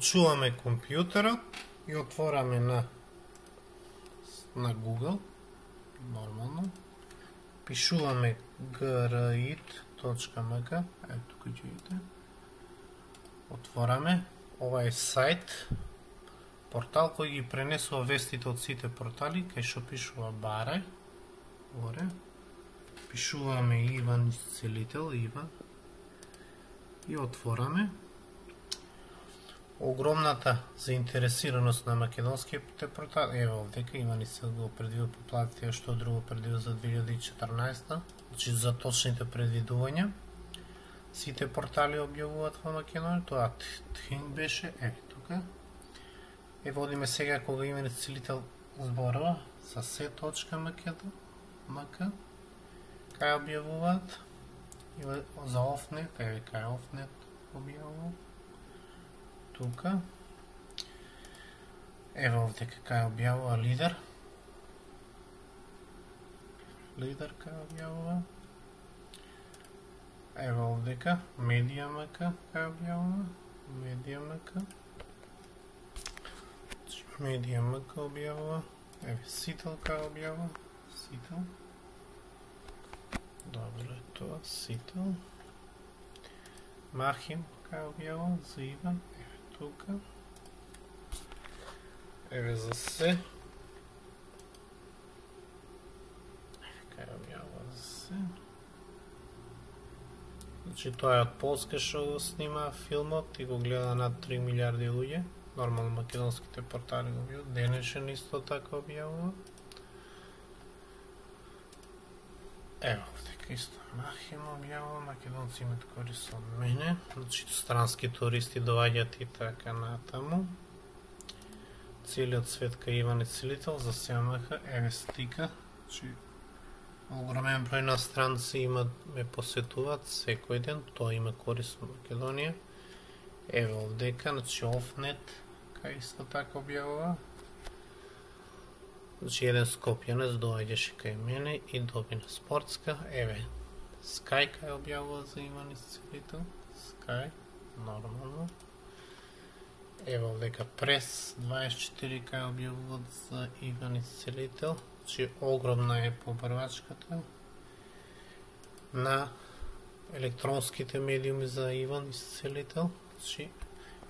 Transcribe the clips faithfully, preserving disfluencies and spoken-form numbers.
Чуваме компјутерот и отвораме на на Google, нормално. Пишуваме грит точка ем ка, е тука ќе видите. Отвораме, ова е сајт, портал кој ги пренесува вестите од сите портали, кај што пишува баре, горе. Пишуваме Иван Исцелител, Иван. И отвораме. Огромната заинтересираност на македонските портали, ево овдека Иван Исцелител го предвидил по платите, што друго предвидил за две илјади и четрнаесета, значи за точните предвидувања. Сите портали објавуваат во Македонија, тоа Тхинг беше, е тука. Е водиме сега кога Иван Исцелител зборува за се точка ем ка, кај објавуваат, за Офнет, еве кај Офнет објавуваат. Тука. Ево овдека кај објавува Лидер. Лидер кај објавува. Ево овдека Медија ем ка кај објавува. Медија ем ка. Медија ем ка објавува. Еве Сител кај објавува. Сител. Добро е тоа, Сител. Махим кај објавува за Иван. Тука. Еве за се. Еве кај објавува за се. Значи тоа е од Полска што го снима филмот и го гледа над три милиарди луѓе. Нормално македонските портали го објавуваат. Денешен исто така објавува. Ево овдека исто Махим објавува, македонци имат корист од мене, значи странски туристи доаѓаат и така натаму. Целиот свет кај Иван Исцелител за се ем ка, еве стика, значи огромен број на странци имат ме посетуваат секој ден, тоа има корист во Македонија. Еве овдека, значи Офнет, кај исто така објавува. Значи еден скопјанец доаѓаше кај мене и добина спортска, еве Скај кај објавува за Иван Исцелител, Скај, нормално. Ево овдека Прес дваесет и четири кај објавуваат за Иван Исцелител, значи огромна е побрвачката на електронските медиуми за Иван Исцелител, значи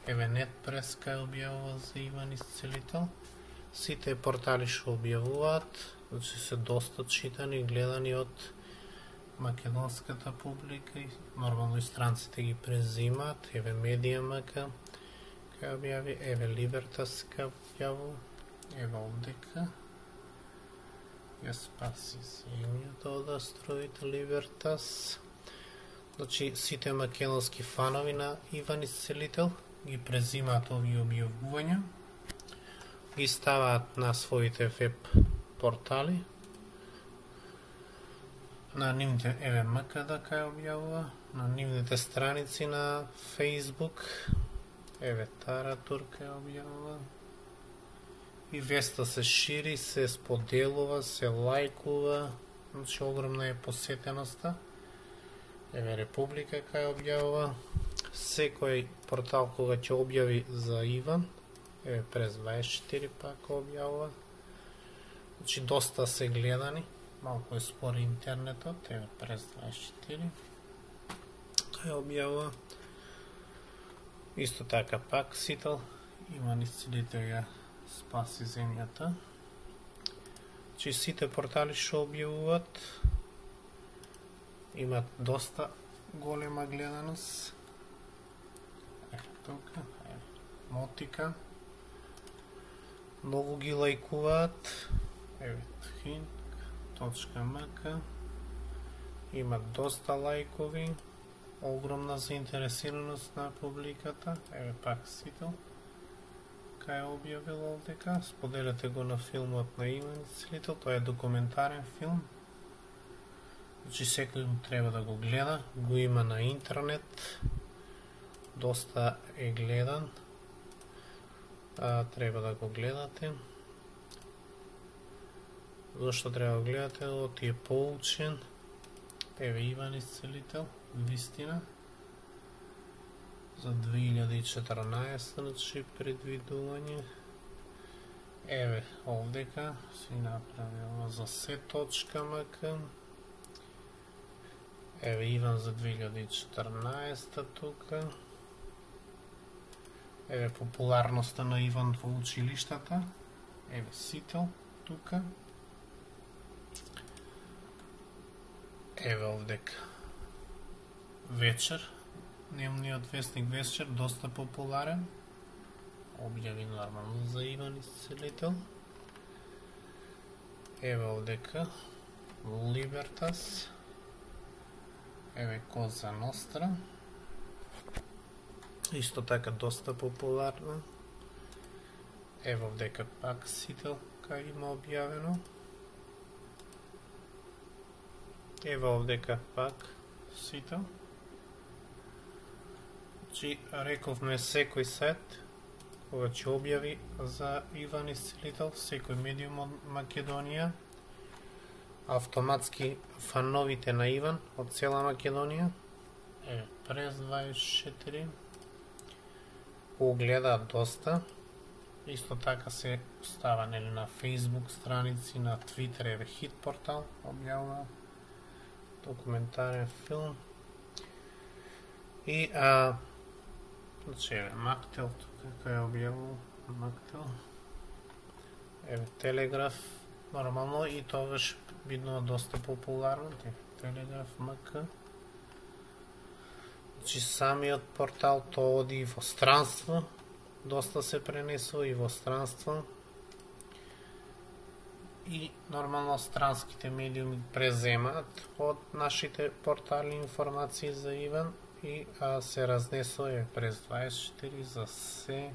еве Нет Прес кај објавува за Иван Исцелител. Сите портали што објавуваат, значи се доста читани и гледани од македонската публика и нормално и странците ги презимаат. Еве Медија ем ка кај објави, еве Либертас кај објавува, еве овдека ја спаси земјата од астероид Либертас. Значи сите македонски фанови на Иван Исцелител ги презимаат овие објавувања, ги ставаат на своите веб портали, на нивните еве ем ка да кај објавува, на нивните страници на Facebook, еве Таратур кај објавува. И веста се шири, се споделува, се лајкува, значи огромна е посетеноста. Еве Република кај објавува. Секој портал кога ќе објави за Иван, еве Прес дваесет и четири пак објавува. Значи доста се гледани, малку е спори интернетот, еве Прес дваесет и четири кај објавува. Исто така пак Сител, Иван Исцелител ја спаси земјата. Значи сите портали што објавуваат имат доста голема гледаност. Еве тука, еве Мотика. Многу ги лајкуваат. Еве Тхинг точка ем ка. Имат доста лајкови. Огромна заинтересираност на публиката. Еве пак Сител кај објавил овдека. Споделете го на филмот на Иван Исцелител. Тоа е документарен филм. Значи секој треба да го гледа. Го има на интернет. Доста е гледан. А, треба да го гледате. Зошто треба да го гледате? Оти е поучен. Еве Иван Исцелител, вистина. за две илјади и четрнаесетта, значи предвидување. Еве овдека си направил за се точка мк. Еве Иван за две илјади и четрнаесетта тука. Еве популарноста на Иван во училиштата. Еве Сител тука. Еве овдека Вечер, дневниот вестник Вечер, доста популарен. Објави нормално за Иван Исцелител. Еве овдека Либертас. Еве Коза Ностра. Исто така доста популарна. Еве овдека пак Сител кај има објавено. Еве овдека пак Сител. Чи рековме секој сајт кога ќе објави за Иван Исцелител, секој медиум од Македонија, автоматски фановите на Иван од цела Македонија, е, през дваесет и четири, го гледаат доста. Исто така се става нели на Facebook страници, на Twitter, еве Хит портал објавува документарен филм. И а значи еве Мактел тука кај објавува Мактел. Еве Телеграф нормално и тогаш бидно доста популарно, Телеграф МК. Значи самиот портал тоа оди во странство, доста се пренесува и во странство. И нормално странските медиуми преземаат од нашите портали информации за Иван и а, се разнесува през дваесет и четири за се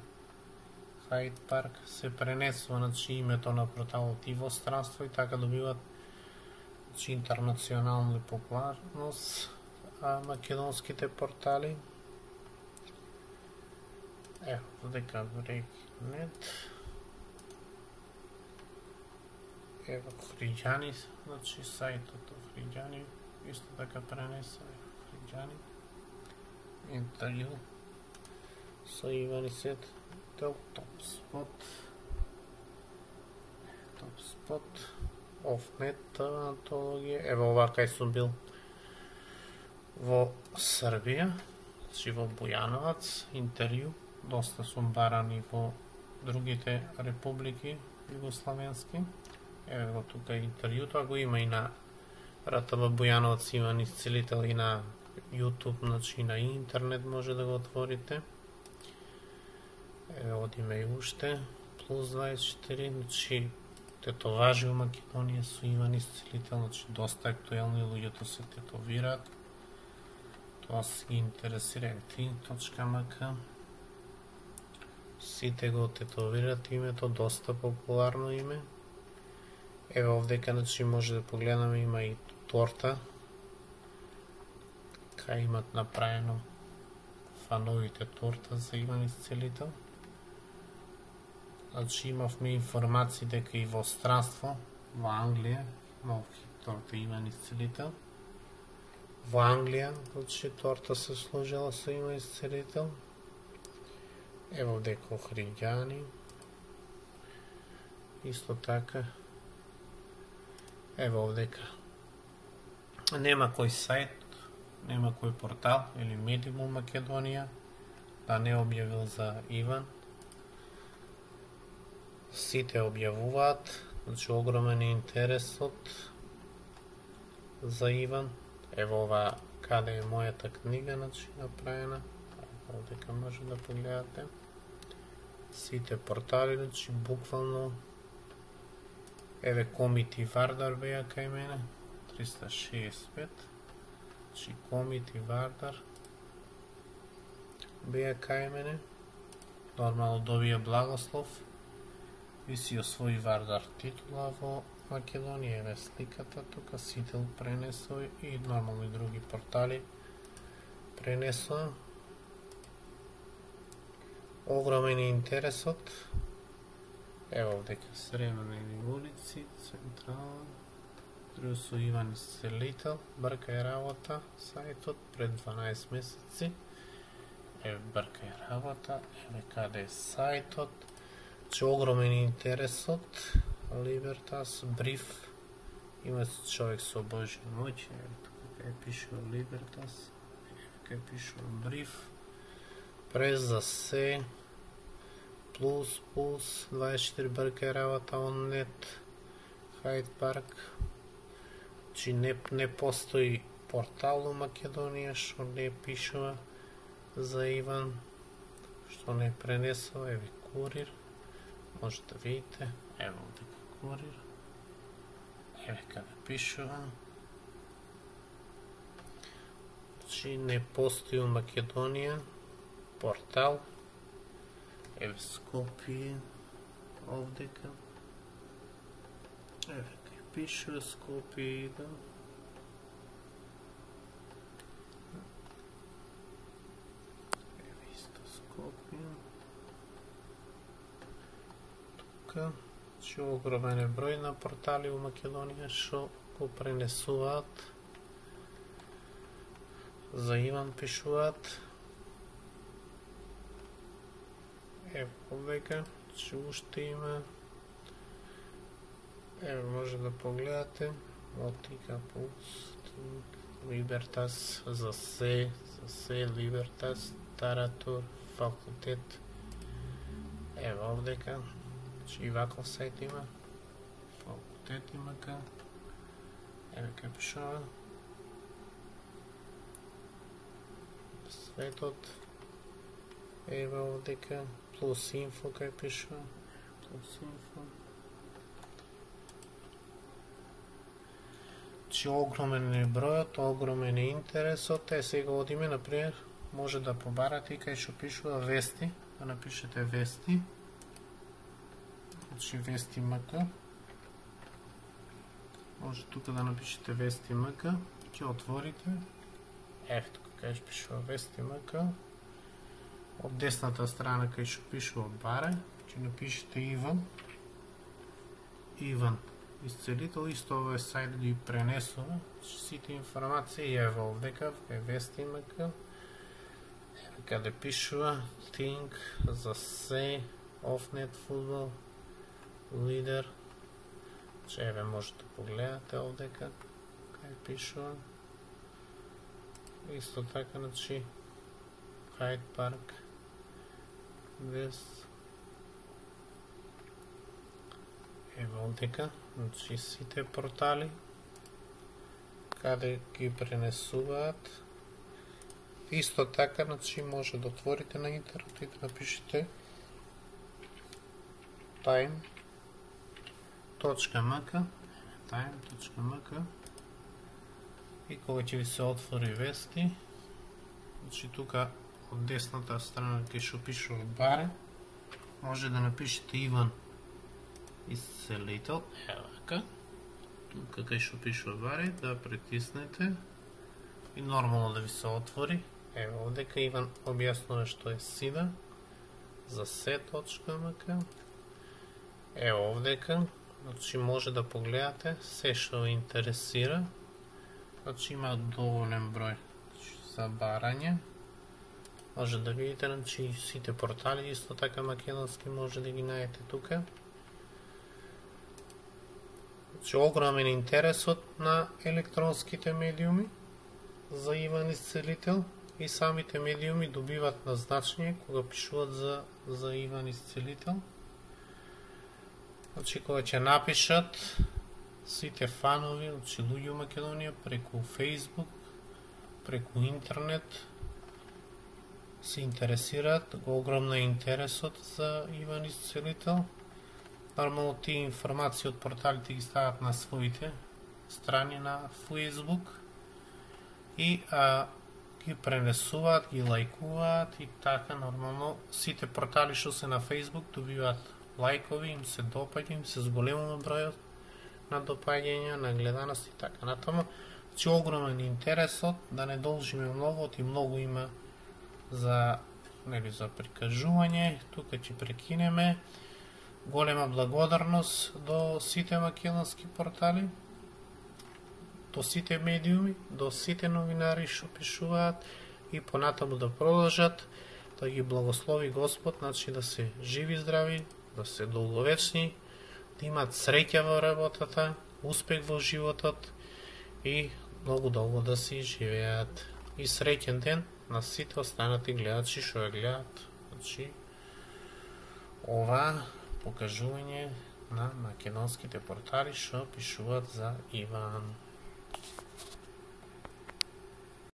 Хайд Парк, се пренесува значи името на порталот и во странство и така добиват значи интернационална популарност а македонските портали. Ево, дека Брейкнет. Ево Хриѓани, значи сајтот Хриѓани, исто така пренеса Хриѓани. Интервју со Иван Исцелител, Топ Спот. Топ Спот. Офнет антологија. Ево ова кај сум бил во Србија, значи во Бујановац, интервју. Доста сум баран и во другите републики југославенски. Еве го тука интервју, тоа го има и на РТБ Бујановац Иван Исцелител и на YouTube, значи на интернет може да го отворите. Еве одиме и уште, плюс дваесет и четири, значи тетоважи во Македонија со Иван Исцелител, значи доста актуелни, луѓето се тетовираат. Тоа се ги интересира три точка мк. Сите го тетовираат името, доста популарно име. Еве овдека значи може да погледаме, има и торта. Кај имат направено фановите торта за Иван Исцелител. Значи имавме информации дека и во странство, во Англија, нов торта Иван Исцелител. Во Англија, значи торта се служила со Иван Исцелител. Ево дека Хриѓани. Исто така. Ево овдека. Нема кој сајт, нема кој портал или медиум во Македонија да не објавил за Иван. Сите објавуваат, значи огромен е интересот за Иван. Ево ова каде е мојата книга, значи направена. Овдека може да погледате. Сите портали, значи буквално. Еве Комити Вардар беа кај мене, триста шеесет и пет. Значи Комити Вардар беа кај мене. Нормално добија благослов и си освои Вардар титула во Македонија. Еве сликата тука, Сител пренесува и нормално и други портали пренесува. Огромен е интересот. Ево овдека Сремени улици, Централа, друго со Иван Исцелител, брка е работа, сајтот пред дванаесет месеци. еве бркај работа, еве каде е сајтот, че огромен интересот, Libertas, бриф, има човек со Божја моќ, еве тука кај пишува Libertas, еве кај пишува бриф, прес за се, плюс, плюс, дваесет и четири бркај работа, оннет, Хайд парк, че не, не постои портал у Македонија што не пишува за Иван, што не пренесува, еве курир, може да видите, ево дека курир, еве каде пишува, че не постои у Македонија портал, еве Скопје, овдека, еве кај пишува Скопје идам, еве исто Скопје, тука, че огромен е број на портали у Македонија што го пренесуваат, за Иван пишуваат, еве овдека, че уште има, еве може да погледате, Мотика Пулс, Libertas, за се, за се, Libertas, Таратур, факултет, еве овдека, че и ваков сајт има, факултет има ка, еве кај пишува, светот, еве овдека, плюс инфо кај пишува, плюс инфо, че огромен е бројот, огромен е интересот, е сега одиме, например, може да побарате и кај што пишува вести, да напишете вести, значи вести МК, може тука да напишете вести МК, ќе отворите, ев тука кај што пишува вести МК, од десната страна кај што пишува баре, ќе напишете Иван, Иван исцелител, исто овој сајт ги пренесува сите информации, еве овдека, кај вести МК, еве каде пишува Think, за се, Офнет фудбал, Лидер, че еве може да погледате овдека, кај пишува, исто така, значи, Хайд парк, Вест, еве овдека, значи сите портали, каде ги пренесуваат, исто така, значи може да отворите на интернет и да напишете time.mk, time.mk, и кога ќе ви се отвори вести, значи тука од десната страна кај што пишува баре, може да напишете Иван исцелител, ево така, тука кај што пишува баре, да притиснете и нормално да ви се отвори, ево овдека Иван објаснува што е сида, за се.мк, ево овдека, значи може да погледате се што ви интересира, значи има доволен број за барање, може да видите, значи сите портали, исто така македонски може да ги најдете тука. Значи огромен интересот на електронските медиуми за Иван исцелител и самите медиуми добиват назначение кога пишуват за, за Иван исцелител. Значи кога ќе напишат сите фанови, значи луѓе у Македонија преку Facebook, преку интернет се интересираат, огромно е интересот за Иван исцелител. Нормално тие информации од порталите ги стават на своите страни на Facebook и а, ги пренесуваат, ги лајкуваат и така нормално сите портали што се на Facebook добиваат лајкови, им се допаѓа, им се зголемува бројот на допаѓања, на гледаност и така натаму. Значи огромен интересот, да не должиме многу, и многу има за, нели, за прикажување, тука ќе прекинеме. Голема благодарност до сите македонски портали, до сите медиуми, до сите новинари што пишуваат, и понатаму да продолжат, да ги благослови Господ, значи да се живи здрави, да се долговечни, да имат среќа во работата, успех во животот и многу долго да си живеат. И среќен ден на сите останати гледачи што ја гледат, значи ова покажување на македонските портали што пишуваат за Иван.